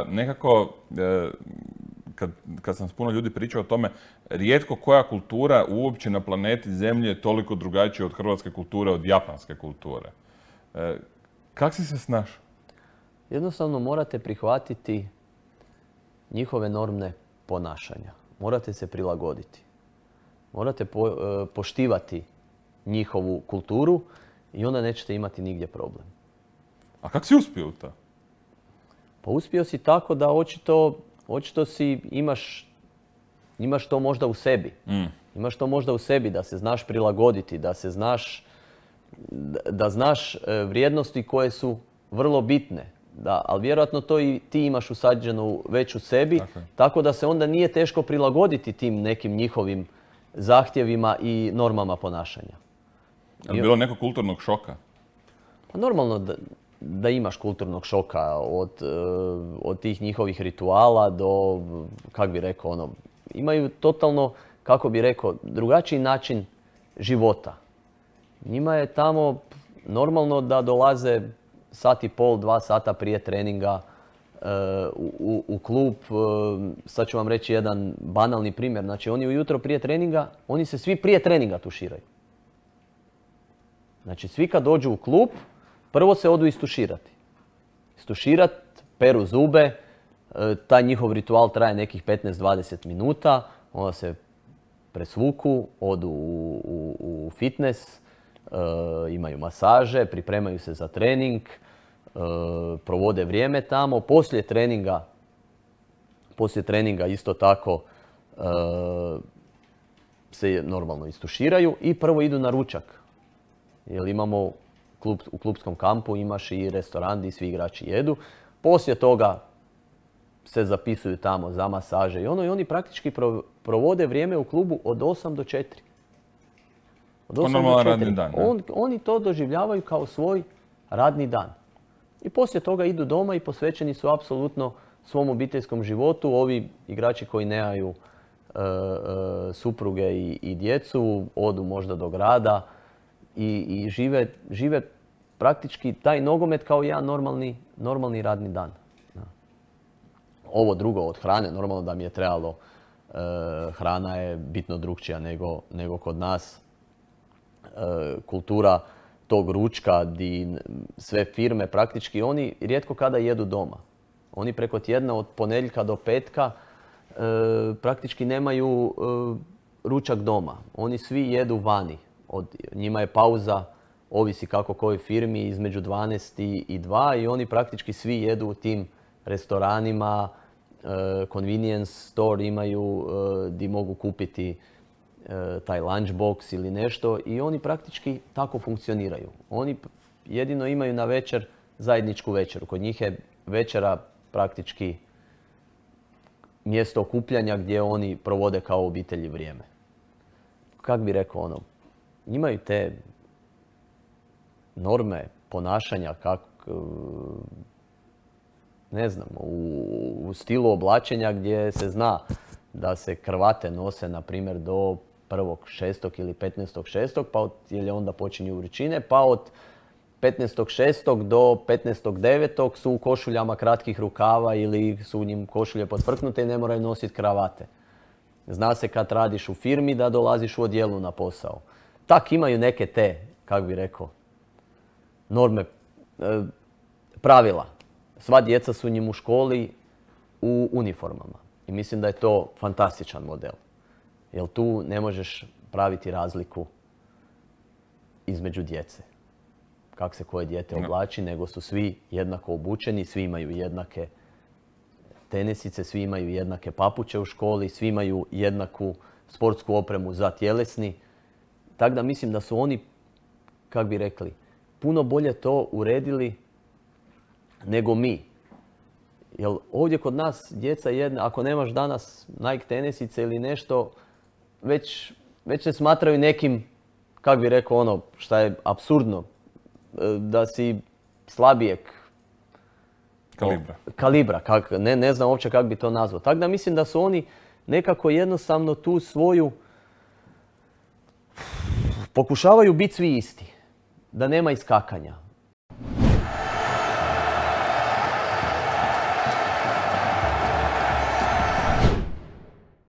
nekako, kad sam s puno ljudi pričao o tome, rijetko koja kultura uopće na planeti Zemlji je toliko drugačija od hrvatske kulture, od japanske kulture. Kako si se snašao? Jednostavno morate prihvatiti njihove norme ponašanja. Morate se prilagoditi. Morate poštivati njihovu kulturu i onda nećete imati nigdje problem. A kako si uspio u to? Pa uspio si tako da očito si imaš to možda u sebi. Imaš to možda u sebi da se znaš prilagoditi, da znaš vrijednosti koje su vrlo bitne. Ali vjerojatno to i ti imaš usađeno već u sebi, tako da se onda nije teško prilagoditi tim nekim njihovim zahtjevima i normama ponašanja. Je li bilo nekog kulturnog šoka? Pa normalno da imaš kulturnog šoka od tih njihovih rituala do, kako bi rekao, imaju totalno, kako bi rekao, drugačiji način života. Njima je tamo normalno da dolaze sat i pol, 2 sata prije treninga u klub. Sad ću vam reći jedan banalni primjer. Znači, oni ujutro prije treninga, oni se svi prije treninga tuširaju. Znači, svi kad dođu u klub, prvo se odu istuširati. Istuširati, peru zube, taj njihov ritual traje nekih 15-20 minuta, onda se presvuku, odu u fitness, imaju masaže, pripremaju se za trening, provode vrijeme tamo. Poslije treninga isto tako se normalno istuširaju i prvo idu na ručak. Jer imamo u klubskom kampu, imaš i restoran gdje svi igrači jedu. Poslije toga se zapisuju tamo za masaže i oni praktički provode vrijeme u klubu od 8 do 4. Od 8 do 4. Radni dan, oni to doživljavaju kao svoj radni dan. I poslije toga idu doma i posvećeni su apsolutno svom obiteljskom životu. Ovi igrači koji nemaju supruge i djecu, odu možda do grada i žive praktički taj nogomet kao jedan normalni radni dan. Ovo drugo od hrane, normalno da mi je trebalo, hrana je bitno drukčija nego kod nas. Kultura tog ručka, di sve firme praktički, oni rijetko kada jedu doma. Oni preko tjedna od ponedjeljka do petka praktički nemaju ručak doma. Oni svi jedu vani. Njima je pauza, ovisi kako kojoj firmi, između 12 i 2 i oni praktički svi jedu u tim restoranima, convenience store imaju gdje mogu kupiti taj lunchbox ili nešto i oni praktički tako funkcioniraju. Oni jedino imaju na večer zajedničku večeru. Kod njih je večera praktički mjesto okupljanja gdje oni provode kao obitelji vrijeme. Kak bi rekao, imaju te norme ponašanja, ne znam, u stilu oblačenja gdje se zna da se kravate nose, na primjer, do 1.6. ili 15.6. pa jer onda počinju vrućine, pa od 15.6. do 15.9. su u košuljama kratkih rukava ili su u njim košulje podfrknute i ne moraju nositi kravate. Zna se kad radiš u firmi da dolaziš u odjelu na posao. Tak imaju neke te, kako bi rekao, norme, pravila. Sva djeca su njim u školi u uniformama. I mislim da je to fantastičan model. Jer tu ne možeš praviti razliku između djece. Kako se koje dijete oblači, nego su svi jednako obučeni, svi imaju jednake tenisice, svi imaju jednake papuče u školi, svi imaju jednaku sportsku opremu za tjelesni. Tako da mislim da su oni, kako bi rekli, puno bolje to uredili nego mi. Jer ovdje kod nas djeca ako nemaš danas Nike tenisice ili nešto, već se smatraju nekim, kako bi rekao, šta je apsurdno, da si slabijeg kalibra. Ne znam uopće kako bi to nazvao. Tako da mislim da su oni nekako jednostavno tu svoju pokušavaju biti svi isti. Da nema iskakanja.